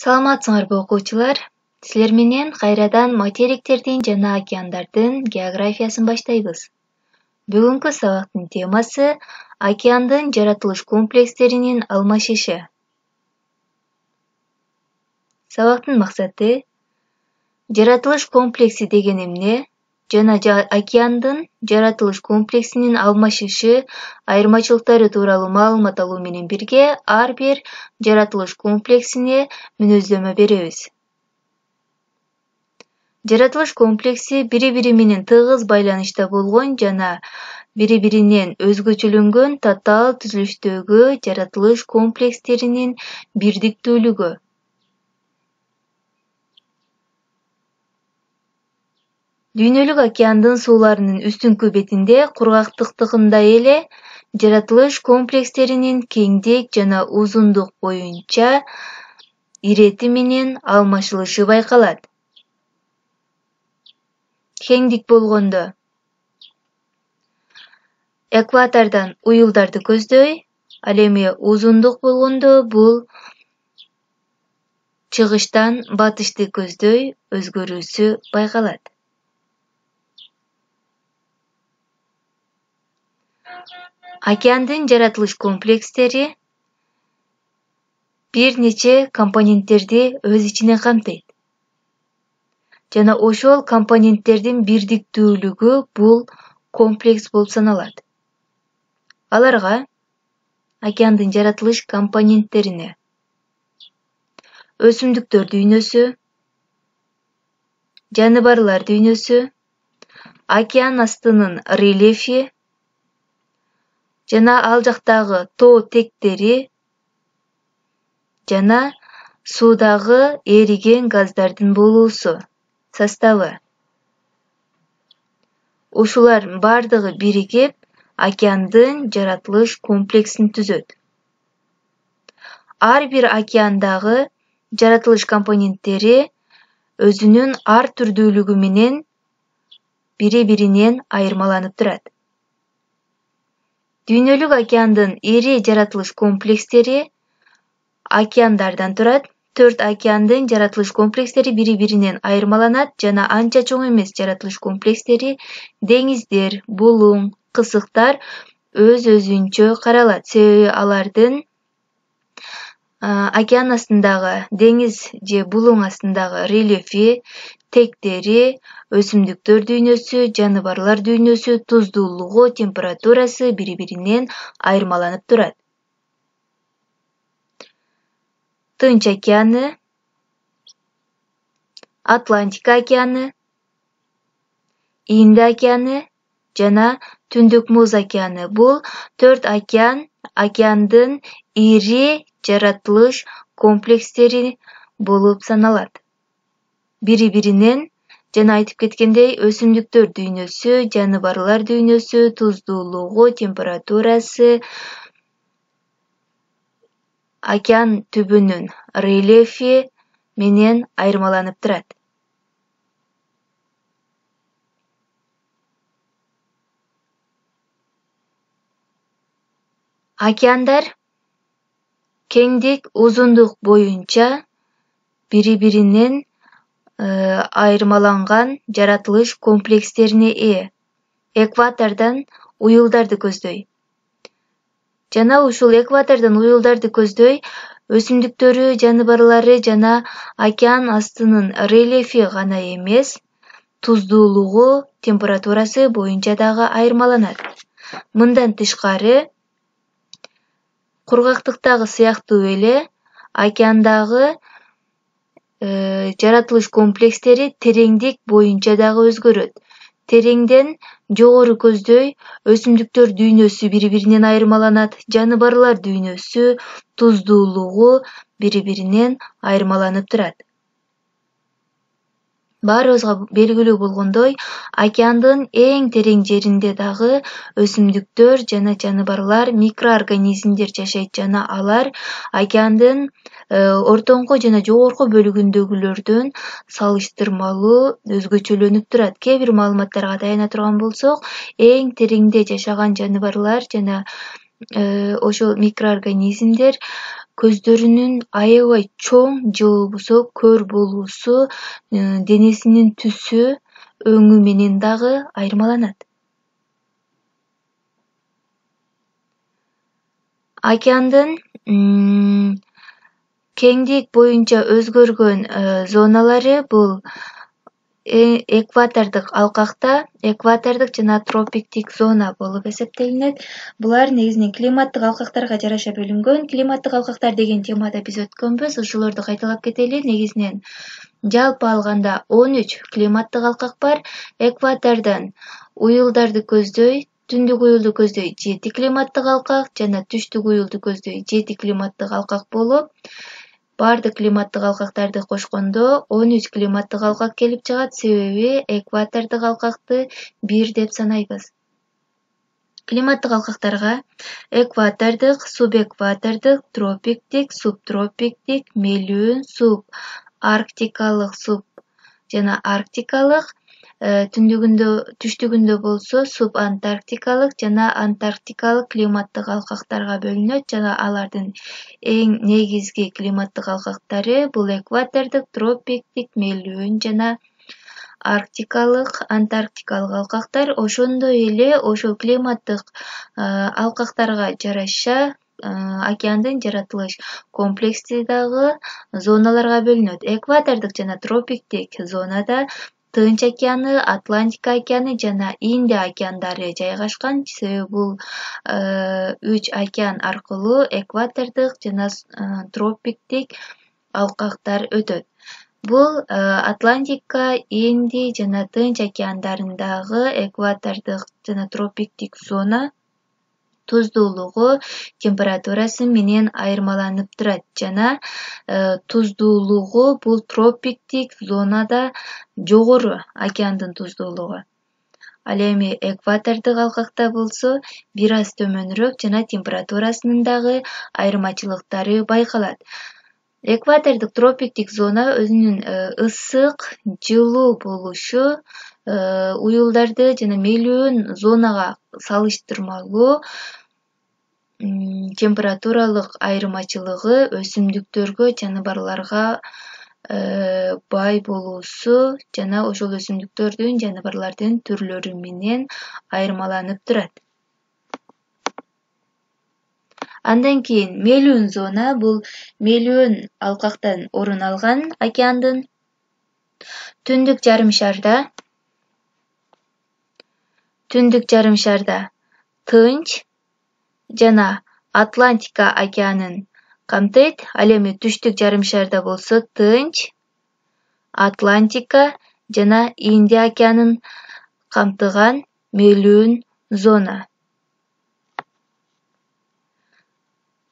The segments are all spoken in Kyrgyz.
Саламатсыңарбы окуучулар? Силер менен кайрадан материктердин жана океандардын географиясын баштайбыз. Бүгүнкү сабактын темасы океандын жаратылыш комплекстеринин алмашышы. Сабактын максаты жаратылыш комплекси деген эмне жана океандын жаратылыш комплексинин алмашышы айырмачылыктары тууралуу маалымат алуу менен бирге ар бир жаратылыш комплексине мүнөздөмө беребиз. Жаратылыш комплекси бири-бири менен тыгыз байланышта болгон жана бири-биринен өзгөчөлөнгөн татаал түзүлүштөгү жаратылыш комплекстеринин бирдиктүүлүгү. Дүйнөлүк океандын сууларынын үстүңкү бетинде кургактыктагындай эле жаратылыш комплекстеринин кеңдик жана узундук боюнча ирети менен алмашылышы байкалат. Кеңдик болгондо экватордон уюлдарды көздөй, ал эми узундук болгондо бул чыгыштан батышты көздөй өзгөрүүсү байкалат. Океандын жаратылыш комплекстери бир нече компоненттерди өз ичине камтыйт. Жана ошол компоненттердин бирдиктүүлүгү бул комплекс болуп саналат. Аларга океандын жаратылыш компоненттерине өсүмдүктөр дүйнөсү, жаныбарлар дүйнөсү, океан астынын рельефи жана ал жактагы тоо тектери жана суудагы эриген газдардын болуусу составы. Ушулар бардыгы биригип океандын жаратылыш комплексин түзөт. Ар бир океандагы жаратылыш компоненттери өзүнүн ар түрдүүлүгү менен бири-биринен айырмаланып турат. Дүйнөлүк океандын ири жаратылыш комплекстери океандардан турат. 4 океандын жаратылыш комплекстери бири-биринен айырмаланат жана анча чоң эмес жаратылыш комплекстери деңиздер, булуң, кысыктар өз-өзүнчө каралат. Себеби алардын океан астындагы деңиз же булуң астындагы рельефи, тектери, өсүмдүктөр дүйнөсү, жаныбарлар дүйнөсү, туздуулугу, температурасы бири-биринен айырмаланып турат. Тынч океаны, Атлантика океаны, Инд океаны жана Түндүк Муз океаны бул 4 океандын ири жаратылыш комплекстери болуп саналат. Бири-биринен жана айтып кеткендей өсүмдүктөр дүйнөсү, жаныбарлар дүйнөсү, туздуулугу, температурасы, океан түбүнүн рельефи менен айырмаланып турат. Океандар кеңдик, узундук боюнча бири-биринен айырмаланган жаратылыш комплекстерине ээ. Экватордон уюлдарды көздөй. Жана ушул экватордон уюлдарды көздөй өсүмдүктөрү, жаныбарлары жана океан астынын рельефи гана эмес, туздуулугу, температурасы боюнча дагы айырмаланат. Мындан тышкары, кургактыктагы сыяктуу эле океандагы жаратылыш комплекстери тереңдик боюнча дагы өзгөрөт. Тереңден жогору көздөй өсүмдүктөр дүйнөсү бири-биринен айырмаланат, жаныбарлар дүйнөсү, туздуулугу бири-биринен айырмаланып турат. Баарыбызга белгилүү болгондой, океандын эң терең жеринде дагы өсүмдүктөр жана жаныбарлар, микроорганизмдер жашайт жана алар океандын ортоңку жана жогорку бөлүгүндөгүлөрдөн салыштырмалуу өзгөчөлөнүп турат. Кээ бир маалыматтарга таяна турган болсок, эң тереңде жашаган жаныбарлар жана ошол микроорганизмдер көздөрүнүн аябай чоң же болбосо көр болуусу, денесинин түсү, өңү менен дагы айырмаланат. Океандын кеңдик боюнча өзгөргөн зоналары бул экватордук алкакта, экватордук жана тропиктик зона болуп эсептелинет. Булар негизинен климаттык алкактарга жараша бөлүнгөн. Климаттык алкактар деген темада биз өткөнбүз, ошолорду кайталап кетели. Негизинен жалпы алганда 13 климаттык алкак бар. Экватордон уюлдарды көздөй, түндүк уюлду көздөй 7 климаттык алкак жана түштүк уюлду көздөй 7 климаттык алкак болуп, бардык климаттык алкактарды кошкондо 13 климаттык алкак келип чыгат, себеби экватордук алкакты бир деп санайбыз. Климаттык алкактарга экватордук, субэкватордук, тропиктик, субтропиктик, мелүүн, субарктикалык, жана арктикалык, түштүгүндө болсо субантарктикалык жана антарктикалык климаттык алкактарга бөлүнөт жана алардын эң негизги климаттык алкактары бул экватордук, тропиктик, мелүүн жана арктикалык, антарктикалык алкактар. Ошондой эле ошол климаттык алкактарга жараша океандын жаратылыш комплекси дагы зоналарга бөлүнөт. Экватордук жана тропиктик зонада Тынч океаны, Атлантика океаны жана Индия океандары жайгашкан, себеби бул 3 океан аркылуу экватордук жана тропиктик алкактар өтөт. Бул Атлантика, Индия жана Тынч океандарындагы экватордук жана тропиктик зона туздуулугу, температурасы менен айырмаланып турат жана туздуулугу бул тропиктик зонада жогору океандын туздуулугу. Ал эми экватордук алкакта болсо бир аз төмөнүрөөк жана температурасынын дагы айырмачылыктары байкалат. Экватордук тропиктик зона өзүнүн ысык, жылуу болушу уюлдарды жана мелүүн зонага салыштырмалуу температуралык айырмачылыгы өсүмдүктөргө, жаныбарларга бай болуусу жана ошол өсүмдүктөрдүн, жаныбарлардын түрлөрү менен айырмаланып турат. Андан кийин мелүүн зона бул мелүүн алкактан орун алган океандын түндүк жарым шарда Тынч жана Атлантика океанын камтыйт. Ал эми түштүк жарым шарда болсо Тынч, Атлантика жана Индия океанын камтыган мелүүн зона.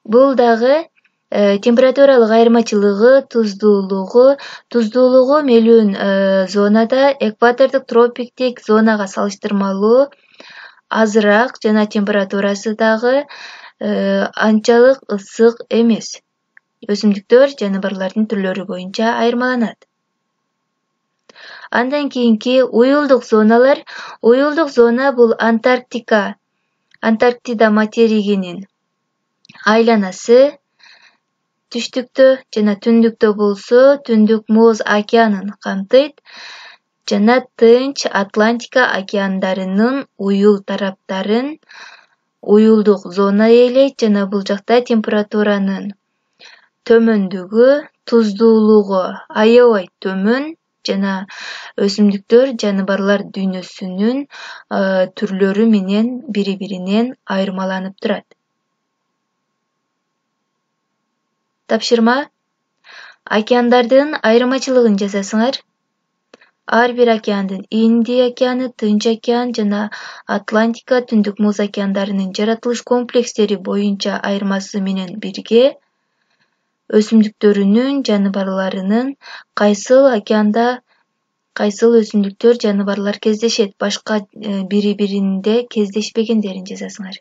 Бул дагы температуралык айырмачылыгы, туздуулугу мелүүн зонада экватордук тропиктик зонага салыштырмалуу азыраак жана температурасы дагы анчалык ысык эмес. Өсүмдүктөр, жаныбарлардын түрлөрү боюнча айырмаланат. Андан кийинки уюлдук зоналар. Уюлдук зона бул Антарктида материгинин айланасы, түштүктө жана түндүктө болсо Түндүк Муз океанын камтыйт жана Тынч, Атлантика океандарынын уюл тараптарын уюлдук зона ээлейт жана бул жакта температуранын төмөндүгү, туздуулугу аябай төмөн жана өсүмдүктөр, жаныбарлар дүйнөсүнүн түрлөрү менен бири-биринен айырмаланып турат. Тапшырма: океандардын айырмачылыгын жазасыңар. Ар бир океандын Индия океаны, Тынч океан жана Атлантика, Түндүк Муз океандарынын жаратылыш комплекстери боюнча айырмасы менен бирге өсүмдүктөрүнүн, жаныбарларынын кайсыл океанда кайсыл өсүмдүктөр, жаныбарлар кездешет, башка бири-биринде кездешпегендерин жазасыңар.